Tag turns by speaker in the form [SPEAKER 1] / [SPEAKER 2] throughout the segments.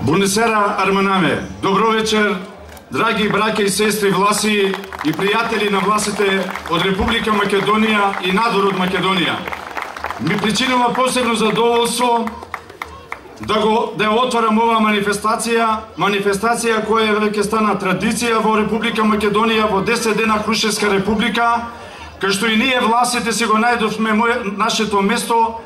[SPEAKER 1] Бунесера Арманаме. Добро вечер, драги браќа и сестри власи и пријатели на власите од Република Македонија и надвор од Македонија. Ми причинува посебно задоволство да отварам оваа манифестација која веќе стана традиција во Република Македонија во 10 дена Крушевска република, кај што и ние власите си го најдовме нашето место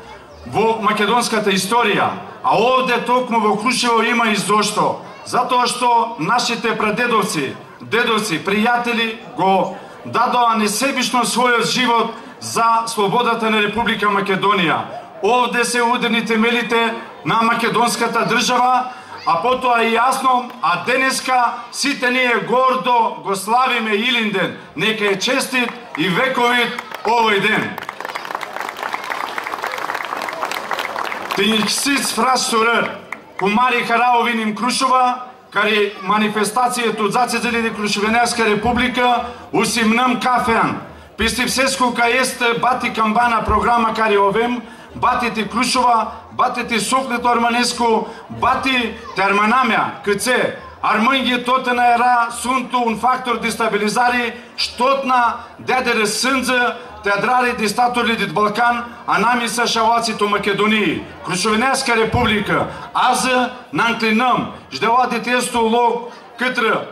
[SPEAKER 1] во македонската историја. А овде токму во Крушево има и зошто. Затоа што нашите прадедовци, дедовци, пријатели го дадоа несебично својот живот за слободата на Република Македонија. Овде се ударни темелите на македонската држава, а потоа и јасно, а денеска сите ние гордо го славиме Илинден. Нека е честит и вековит овој ден. Тенјсиц фрасурер, кумари хараовиним Крушова, кари манифестацијето од зацезелите Крушевенеска република, усимнам кафеан. Пистивсеско кај есте бати камбана програма кари овем, батите Крушова, батите Софлето Арманеско, бати Терманамја, КЦ, Арманги тотена ера, сунту un фактор дестабилизари, штотна дедере сындза, театрари дистаторли дит Балкан, а нами са шаваците Македонии. Крушевенеска република, аза нанклинам, ждела детесто лог кытра,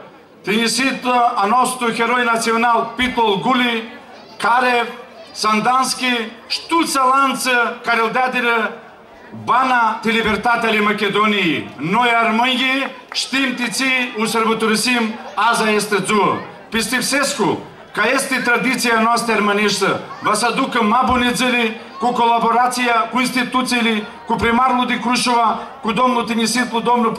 [SPEAKER 1] тенисита аносто херој национал Питол Гули, Карев, Сандански, штуца ланца, карел дадира бана те либертатели Македонии. Ној Арманги, штим тици усрботорисим, аза есте дзу. Пистивсеско, кај есте традиција носте арманешта, васадука мабунедзели, ку колаборација, ку институцијли, ку примарлу ди Крушова, ку домну Тениситлу, домну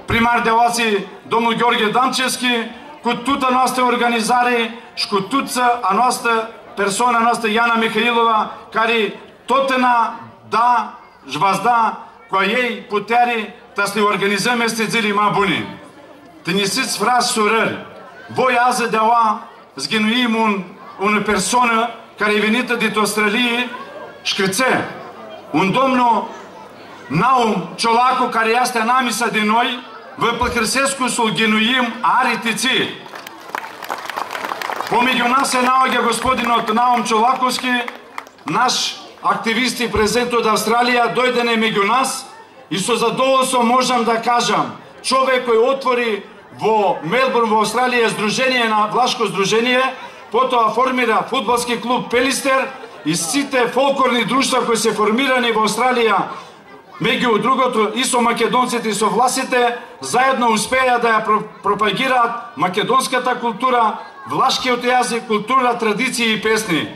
[SPEAKER 1] примар делаци, домну Ѓорѓе Дамчевски, ку тута носте организари, шку туца, а носте персона, носте Јана Михаилова, кари тотена да жвазда, која јеј путери, та сли организаме сте дзели мабуни. Тенисиц фраз сурер, вој азе дела, сгенуим una persona care e venită din Australia, șcrițe, un domnul Naum Ciolacu, care este namisa de noi, vă păcrăsescu să-l genuim aritici. Помеѓу нас се наоѓа господинот Наум Чолаковски, наш активист и презент од Австралија, дојдене меѓу нас и со задоволство можам да кажам, човек кој отвори во Мелбурн, во Австралија, здружение на влашко здружение, потоа формира фудбалски клуб Пелистер и сите фолклорни друштва кои се формирани во Австралија, меѓу другото и со македонците и со власите, заедно успеа да ја пропагираат македонската култура, влашкиот јазик, култура, традиции и песни.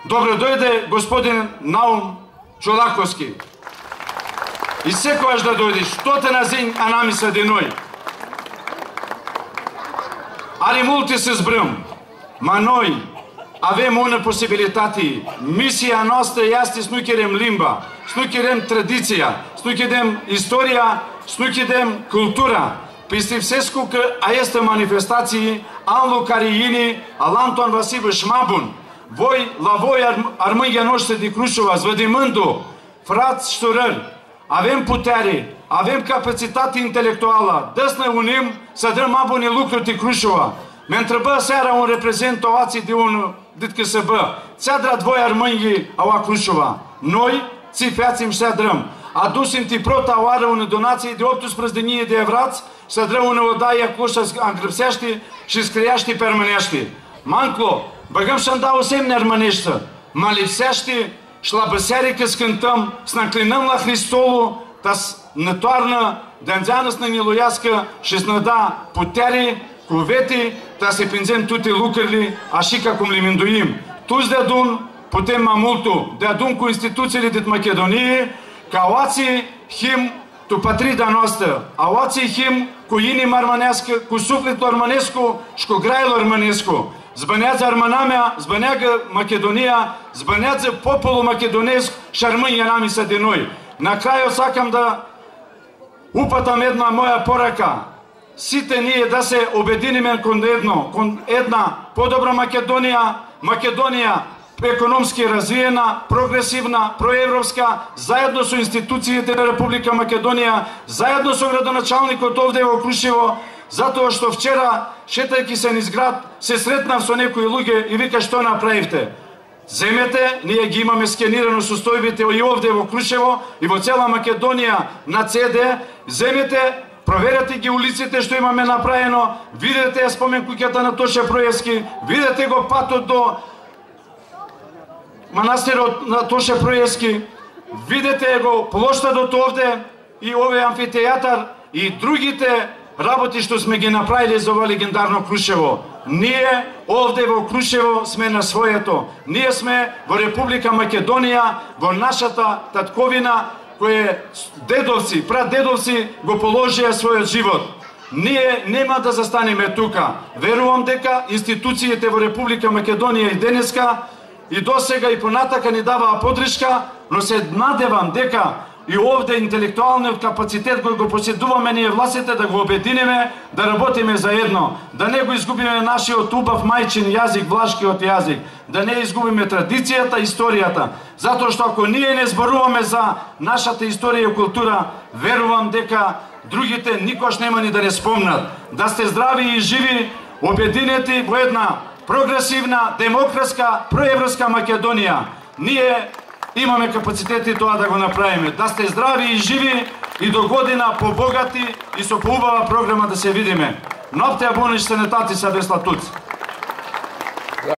[SPEAKER 1] Добро дојде господин Наум Чолаковски. И секојаш да дојдеш, што те назин анамиса деној. Ари мулти се збрам, ma noi avem una posibilitate. Misia noastră este să nu cherem limba, să nu cherem tradiția, să nu cherem istoria, să nu cherem cultura. Пистивсеско că este manifestații anul care ini al Anton Vasilievich Mabun. La voi armângea noastră de Crушова, zvădimându, frați și surări, avem putere, avem capacitate intelectuală, dă să ne unim să dăm Mabune lucruri de Crушова. Ме întrebă seara un reprezent oații de un dit KSB. Ți-a drat voi armânghii aua Crушова. Noi, ți feațim și drăm. Adusim ti prota oară ună donație de 18.000 de evrați, să drăm ună odaie acolo și îngrăpseaște și scriaște permânește. Manclo, băgăm și-mi dau semne armâneștă. Mă lipsește și la băseare că scântăm, să ne înclinăm la Hristolul, ta ne toarnă, de-anzeană să ne miluiască și să ne da putere, cuvete, da se prinzem toate lucrurile așa cum le minduim. Toți de adun putem mai multul, de adun cu instituțiile din Macedonie, ca oații him tu patrida noastră, a oații him cu inima armănească, cu sufletul armănescu și cu graiul armănescu. Zbănează Armănamea, zbăneagă Macedonia, zbănează popolul macedonesc și armânia namisa de noi. Na kraju sakam da upatam една moja poraka. Сите ние да се обединиме кон една подобра Македонија, Македонија економски развиена, прогресивна, проевропска, заедно со институциите на Република Македонија, заедно со градоначалникот овде во Крушево, затоа што вчера, шетајќи се низ град, се сретнав со некои луѓе и вика што направивте. Земете, ние ги имаме скенирано состојбите и овде во Крушево и во цела Македонија на CD, земете, проверете ги улиците што имаме направено, видете спомен куќата на Тоше Проевски, видете го патот до манастирот на Тоше Проевски, видете го плоштадот овде и овој амфитеатар и другите работи што сме ги направили за ова легендарно Крушево. Ние овде во Крушево сме на своето. Ние сме во Република Македонија, во нашата татковина, кој дедовци, прадедовци го положија својот живот. Ние нема да застанеме тука. Верувам дека институциите во Република Македонија и денеска и досега и понатака ни даваа подршка, но се надевам дека и овде интелектуалниот капацитет кој го поседуваме ние властите да го обединиме, да работиме заедно, да не го изгубиме нашиот убав мајчин јазик, влашкиот јазик, да не изгубиме традицијата, историјата, затоа што ако ние не зборуваме за нашата историја и култура, верувам дека другите никош нема ни да не спомнат. Да сте здрави и живи, обединети во една прогресивна, демократска, проевропска Македонија. Ние имаме капацитети тоа да го направиме. Да сте здрави и живи и до година побогати и со поубава програма да се видиме. Ноптеа бониш се нетати са Весла Туц.